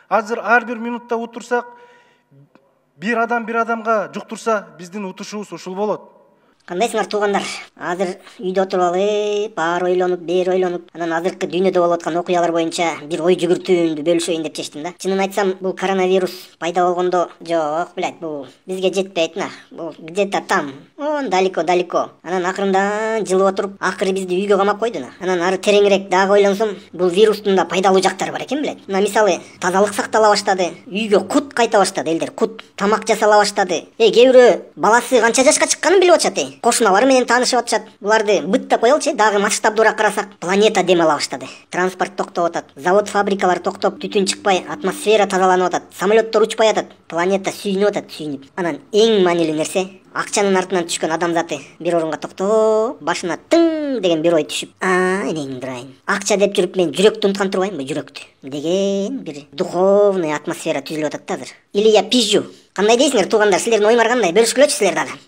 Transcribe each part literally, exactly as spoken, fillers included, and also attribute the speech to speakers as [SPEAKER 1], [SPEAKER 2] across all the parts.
[SPEAKER 1] Азыр ар бир минутта утурсак, бир адам бир адамга жуктурса, биздин утушубуз ушул болот.
[SPEAKER 2] Кандайсыңар туугандар? Азыр үйдө отуруп алып, баары ойлонуп, бери ойлонуп, анан азыркы дүйнөдө болуп аткан окуялар боюнча бир ой жүгүртүүмдү бөлүшөйүн деп чечтим да. Чынын айтсам, бул коронавирус пайда болгондо, жок, блядь, бул бизге жетпейт на. Бул где-то там, он далеко-далеко. Анан акырындан жылып отуруп, акыры бизди үйгө камап койду на. Анан ары тереңирээк дагы ойлонсом, бул вирустун да пайдалуу жактары бар экен, блядь. Мына мисалы, тазалык сактала баштады, үйгө кут кайта баштады элдер, кут тамак жасала баштады. Э, кээ бирөө баласы канча жашка чыкканын билип атышат, э. Кошуналары менен таанышып атышат. Буларды быттап коелучу, дагы масштабдуураак карасак, планета дем ала баштады. Транспорт токтоп атат, завод, фабрикалар токтоп, түтүн чыкпай, атмосфера тазаланып атат, самолеттор учпай атат, планета сүйүнүп атат, сүйүнүп. Анан эң маанилүү нерсе, акчанын артынан түшкөн адам заты бир орунга токтоп, башына тың деген бир ой түшүп, а, энеңди турайын. Акча деп жүрүп мен жүрөктү унуткан турбаймынбы, жүрөктү деген бир духовный атмосфера түзүлүп атат да азыр. Или я пизжу. Кандай дейсиңер туугандар, силердин оюңар кандай? Бөлүшкүлөчү силер дагы.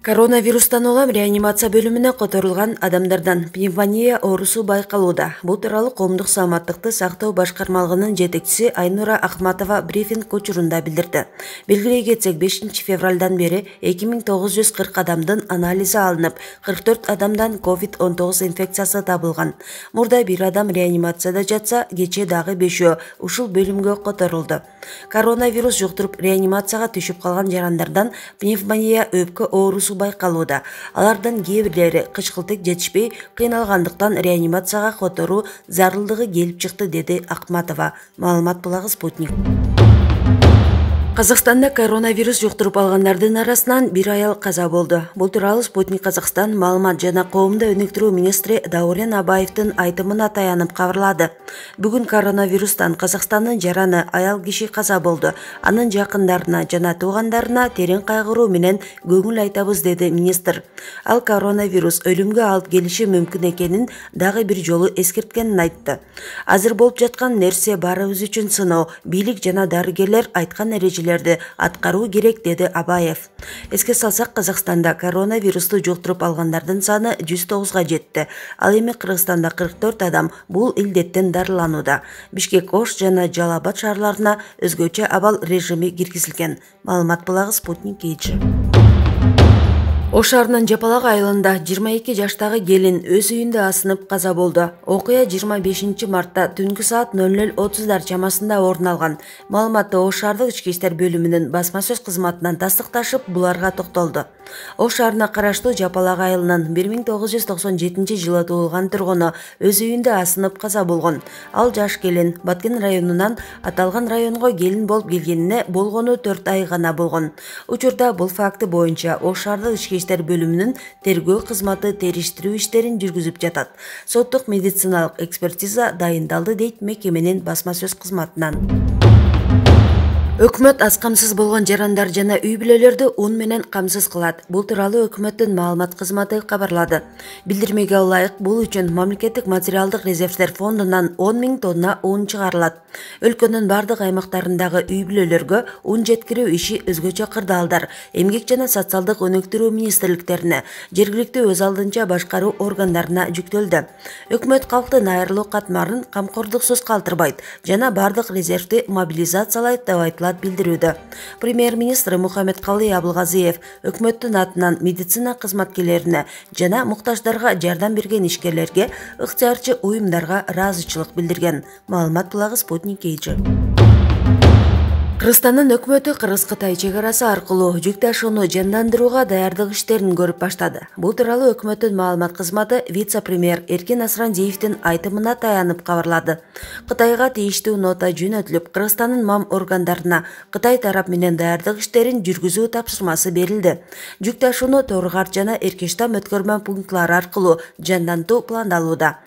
[SPEAKER 3] Коронавирустан улам реанимация бөлүмүнө которулган адамдардан пневмония оорусу байкалууда. Бул тууралуу коомдук саламаттыкты сактоо башкармалыгынын жетекчиси Айнура Ахматова брифинг учурунда билдирди. Белгилей кетсек, бешинчи февралдан бери эки миң тогуз жүз кырк адамдын анализи алынып, кырк төрт адамдан ковид он тогуз инфекциясы табылган. Мурда бир адам реанимацияда жатса, кечээ дагы бешөө ушул бөлүмгө которулду. Коронавирус жуктуруп реанимацияга түшүп калган жарандардан пневмония, өпкө оорусу байкалууда. Алардан кээ бирлери кычкылтык жетишпей кыйналгандыктан реанимацияга которуу зарылдыгы келип чыкты, деди Ахматова. Маалымат булагы Спутник. Казакстанда коронавирус жуктуруп алгандардын арасынан бир аял каза болду. Бул тууралуу Спутник Казакстан маалымат жана коомдук өнүктүрүү министри Даурен Абаевдин айтымына таянып кабарлады. Бүгүн коронавирустан Казакстандын жараны аял киши каза болду. Анын жакындарына жана туугандарына терең кайгыруу менен көңүл айтабыз, деди министр. Ал коронавирус өлүмгө алып келиши мүмкүн экенин дагы бир жолу эскерткенин айтты. Азыр болуп жаткан нерсе баарыбыз үчүн сыноо, бийлик жана дарыгерлер айткан эрежелер аткаруу керек, деди Абаев. Эске салсак, Казакстанда коронавирусту жуктуруп алгандардын саны жүз тогузга жетти. Ал эми Кыргызстанда кырк төрт адам бул илдеттен дарыланууда. Бишкек, Ош жана Жалал Абад шаарларына өзгөчө абал режими киргизилген. Маалымат булагы Спутник Кейджи. Ош шаарынын Жапалак айылында жыйырма эки жаштагы келин өз үйүндө асынып каза болду. Окуя жыйырма бешинчи мартта түнкү саат ноль ноль отуздар чамасында орун алган. Маалыматты Ош шаардык ички иштер бөлүмүнүн басма сөз кызматынан тастыкташып, буларга токтолду. Ош шаарына караштуу Жапалак айылынын бир миң тогуз жүз токсон жетинчи жылы туулган тургуну өз үйүндө асынып каза болгон. Ал жаш келин Баткен районунан аталган районго келин болуп келгенине болгону төрт ай гана болгон. Учурда бул факты боюнча Ош шаардык ички иштер бөлүмүнүн тергөө кызматы териштирүү иштерин жүргүзүп жатат. Соттук медициналык экспертиза дайындалды, дейт мекеменин басма сөз кызматынан. Өкмөт аз камсыз болгон жарандар жана үй бүлөлөрдү ун менен камсыз кылат. Бул тууралуу өкмөттүн маалымат кызматы кабарлады. Билдирмеге ылайык, бул үчүн мамлекеттик материалдык резервдер фондунан он миң тонна ун чыгарылат. Өлкөнүн бардык аймактарындагы үй бүлөлөргө ун жеткирүү иши өзгөчө кырдаалдар, эмгек жана социалдык өнүктүрүү министрликтерине, жергиликтүү өз алдынча башкаруу органдарына жүктөлдү. Өкмөт калктын айрылуу катмарын камкордуксуз калтырбайт жана бардык резервди мобилизациялайт деп айтылат билдирүүдө. Премьер-министр Мухаммедкалый Абылгазиев өкмөттүн атынан медицина кызматкерлерине жана муктаждарга жардам берген ишкерлерге, ыктыярчы уюмдарга ыраазычылык билдирген. Маалымат булагы Спутник Кейджи. Кыргызстандын өкмөтү Кыргыз-Кытай чегарасы аркылуу жүк ташууну жандандырууга даярдык иштерин көрүп баштады. Бул тууралуу өкмөттүн маалымат кызматы вице-премьер Эркин Асрандиевдин айтымына таянып кабарлады. Кытайга тийиштүү нота жөнөтүлүп, Кыргызстандын мам органдарына Кытай тарап менен даярдык иштерин жүргүзүү тапшырмасы берилди. Жүк ташууну Торгар жана Эркештам өткөрмө пунктлары аркылуу жандантуу пландалууда.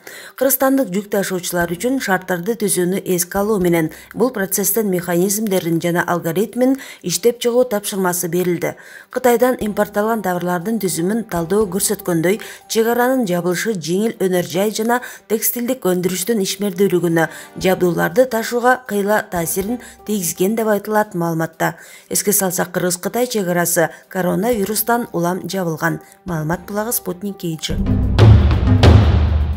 [SPEAKER 3] Кыргызстандык жүк ташуучулар үчүн шарттарды түзүүнү эске алуу менен бул процесстин механизмдерин жана алгоритмин иштеп чыгуу тапшырмасы берилди. Кытайдан импортталган товарлардын түзүмүн талдоо көрсөткөндөй, чек аранын жабылышы жеңил өнөр жай жана текстилдик өндүрүштүн ишмердүүлүгүнө, жабдууларды ташууга кыйла таасирин тийгизген деп айтылат маалыматта. Эске салсак, Кыргыз-Кытай чек арасы коронавирустан улам жабылган. Маалымат булагы Спутник Кейчи.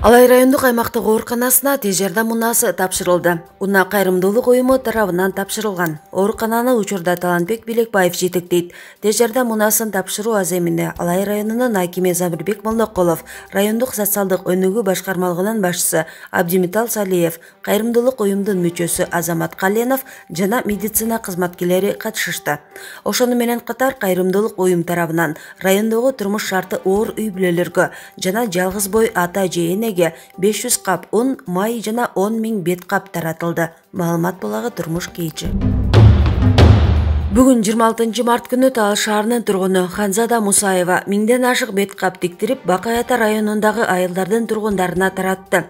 [SPEAKER 3] Алай райондук аймактык ооруканасына тез жардам унаасы тапшырылды. Унаа кайрымдуулук уюму тарабынан тапшырылган. Оорукананы учурда Талантбек Билекбаев жетектейт. Тез жардам унаасын тапшыруу аземине Алай районунун акими Замирбек Молдоколов, райондук социалдык өнүгүү башкармалыгынын башчысы Абдимитал Салиев, кайрымдуулук уюмдун мүчөсү Азамат Каленов жана медицина кызматкерлери катышышты. Ошону менен катар кайрымдуулук уюм тарабынан райондогу турмуш шарты оор үй бүлөлөргө жана жалгыз бой ата же энеге беш жүз кап un, май жана он миң бет кап таратылды. Маалымат булагы Турмуш Кейчи. Бүгүн жыйырма алтынчы март күнү Талаш шаарынын тургуну Ханзада Мусаева миңден ашык бет кап тиктирип, Бакай Ата районундагы айылдардын тургундарына таратты.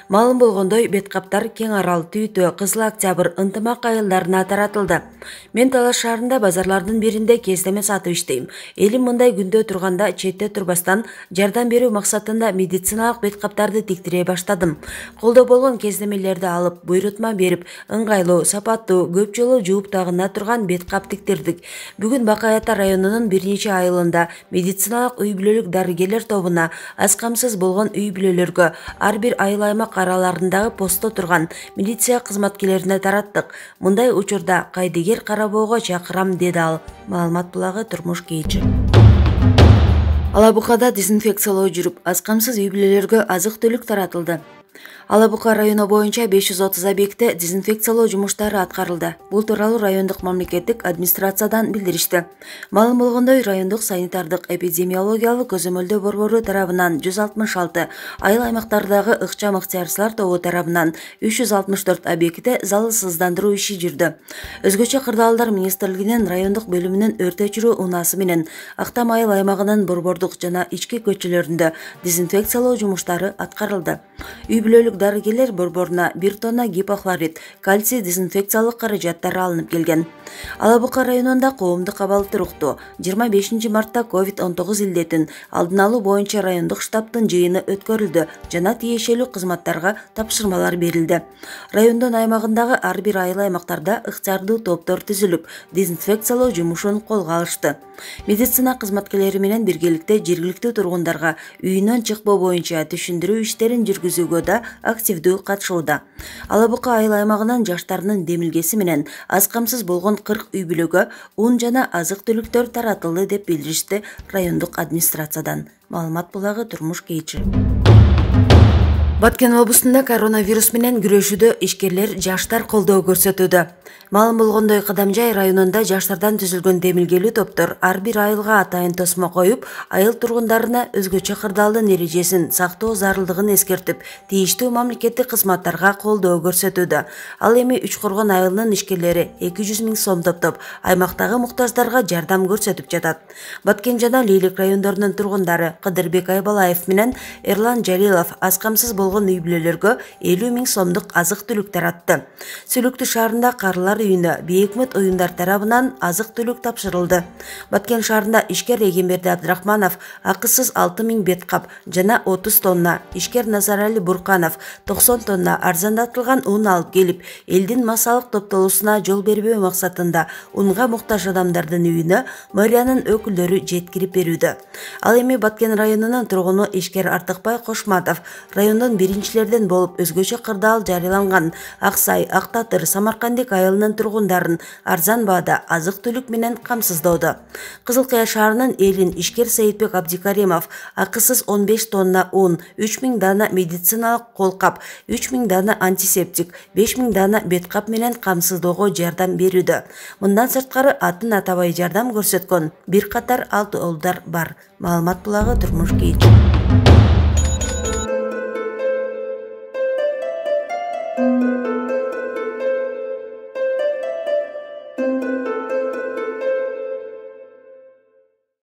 [SPEAKER 3] Маалым болгондой, бет каптар Кең Арал, Түйтө, Кызыл Октябрь, Ынтымак айылдарына таратылды. Мен Талаш шаарында базарлардын биринде кездеме сатып иштейм. Элим мындай күндө турганда четте турбастан жардам берүү максатында медициналык бет каптарды тиктире баштадым. Колдо болгон кездемелерди алып, буйрутма берип, ыңгайлуу, сапаттуу, көп жолу жууп тагына турган бет кап тиктирдик. Бүгүн Бакай Ата районунун бир нече айылында медициналык үй бүлөлүк дарыгерлер тобуна, аз камсыз болгон үй бүлөлөргө, ар бир айыл аймак араларындагы постто турган милиция кызматкерлерине тараттык. Мындай учурда кайдыгер карабоого чакырам, деди ал. Маалымат булагы Турмуш Кейчи. Алабукада дезинфекциялоо жүрүп, аз камсыз үй бүлөлөргө азык-түлүк таратылды. Алабука району боюнча беш жүз отуз объектте дезинфекциялоо жумуштары аткарылды. Бул тууралуу райондук мамлекеттик администрациядан билдиришти. Маалым болгондой, райондук санитардык эпидемиологиялык көзөмөлдөө борбору тарабынан жүз алтымыш алты, айыл аймактардагы ыкчам ыктыярчылар тобу тарабынан үч жүз алтымыш төрт объектте залалсыздандыруу иши жүрдү. Өзгөчө кырдаалдар министрлигинин райондук бөлүмүнүн өрт өчүрүү унаасы менен Актам айыл аймагынын борбордук жана ички көчөлөрүндө дезинфекциялоо жумуштары аткарылды. Үй бүлөлүк дарыгерлер борборуна бир тонна гипохлорид, кальций дезинфекциялык каражаттары алынып келген. Алабука районунда коомдук абал туруктуу. жыйырма бешинчи мартта ковид он тогуз илдетин алдын алуу боюнча райондук штабтын жыйыны өткөрүлдү жана тиешелүү кызматтарга тапшырмалар берилди. Райондун аймагындагы ар бир айыл аймактарда ыктыярдуу топтор түзүлүп, дезинфекциялоо жумушун колго алышты. Медицина кызматкерлери менен биргеликте жергиликтүү тургундарга үйүнөн чыкпоо боюнча түшүндүрүү иштерин жүргүзүүгө да активдүү катышууда. Алабука айыл аймагынын жаштарынын демилгеси менен аз камсыз болгон кырк үй бүлөгө un жана азык-түлүктөр таратылды деп билдиришти райондук администрациядан. Маалымат булагы Турмуш Кейчи. Баткен облусунда коронавирус менен күрөшүүдө ишкерлер жаштар колдоо көрсөтүүдө. Маалым болгондой, Кадамжай районунда жаштардан түзүлгөн демилгелүү топтор ар бир айылга атайын тосмо коюп, айыл тургундарына өзгөчө кырдаалдын эрежесин сактоо зарылдыгын эскертип, тийиштүү мамлекеттик кызматтарга колдоо көрсөтүүдө. Ал эми Үч Коргон айылынын ишкерлери эки жүз миң сом топтоп, аймактагы муктаждарга жардам көрсөтүп жатат. Баткен жана Лейлик райондорунун тургундары Кыдырбек Айбалаев менен Эрлан Жалилов аз камсыз болгон үй бүлөлөргө элүү миң сомдук азык-түлүк таратты. Сүлүктүү шаарында Карылар үйүнө бейөкмөт уюмдар тарабынан азык-түлүк тапшырылды. Баткен шаарында ишкер Эгемберди Абдрахманов акысыз алты миң бет кап жана отуз тонна, ишкер Назарали Бурканов токсон тонна арзандатылган un алып келип, элдин массалык топтолуусуна жол бербөө максатында унга муктаж адамдардын үйүнө мэриянын өкүлдөрү жеткирип берүүдө. Ал эми Баткен районунун тургуну ишкер Артыкбай Кошматов райондон биринчилерден болуп өзгөчө кырдаал жарыяланган Аксай, Актатыр, Самаркандик айылынын тургундарын арзан баада азык-түлүк менен камсыздоодо. Кызыл Кыя шаарынын элин ишкер Сейитбек Абдикаримов акысыз он беш тонна un, үч миң дана медициналык колкап, үч миң дана антисептик, беш миң дана бет кап менен камсыздоого жардам берүүдө. Мындан сырткары атын атабай жардам көрсөткөн бир катар алты олдар бар. Маалымат булагы Турмуш Кейчи. Thank you.